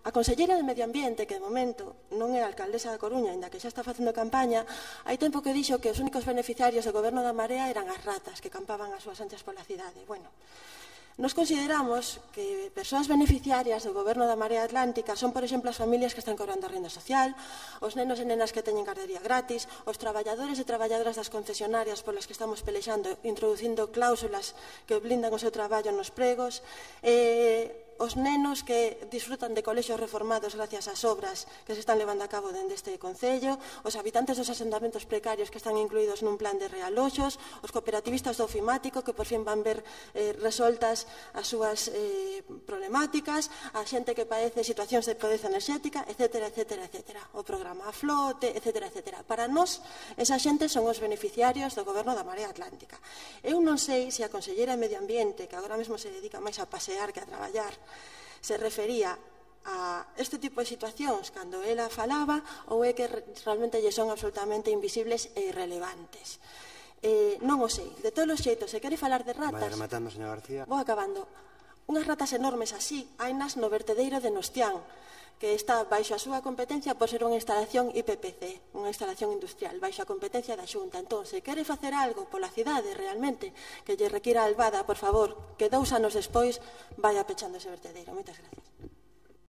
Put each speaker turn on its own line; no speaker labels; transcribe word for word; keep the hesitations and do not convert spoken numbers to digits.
A conselleira de Medio Ambiente, que de momento non é a alcaldesa da Coruña, ainda que xa está facendo campaña, hai tempo que dixo que os únicos beneficiarios do goberno da Marea eran as ratas que campaban as súas anchas pola cidade. Bueno, nos consideramos que persoas beneficiarias do goberno da Marea Atlántica son, por exemplo, as familias que están cobrando a renda social, os nenos e nenas que teñen gardería gratis, os traballadores e traballadoras das concesionarias polas que estamos pelexando, introducindo cláusulas que blindan o seu traballo nos pregos, e os nenos que disfrutan de colexios reformados gracias ás obras que se están levando a cabo dende este Concello, os habitantes dos asentamentos precarios que están incluídos nun plan de realoxos, os cooperativistas do ofimático que por fin van ver eh, resoltas as súas eh, problemáticas, a xente que padece situacións de pobreza enerxética, etcétera, etcétera, etcétera. O programa A Flote, etcétera, etcétera. Para nós, esa xente son os beneficiarios do goberno da Marea Atlántica. Eu non sei se a conselleira de Medio Ambiente, que agora mesmo se dedica máis a pasear que a traballar, se refería a este tipo de situacións cando ela falaba ou é que realmente lle son absolutamente invisibles e irrelevantes. Eh, non o sei. De todos os xeitos, se quere falar de ratas...
Vai rematando, señor García.
Vou acabando. Unhas ratas enormes así hainas no vertedeiro de Nostián, que está baixo a súa competencia por ser unha instalación I P P C, unha instalación industrial, baixo a competencia da Xunta. Entón, se quere facer algo pola cidade realmente que lle requira a Albada, por favor, que dous anos despois vaya pechando ese vertedeiro. Moitas gracias.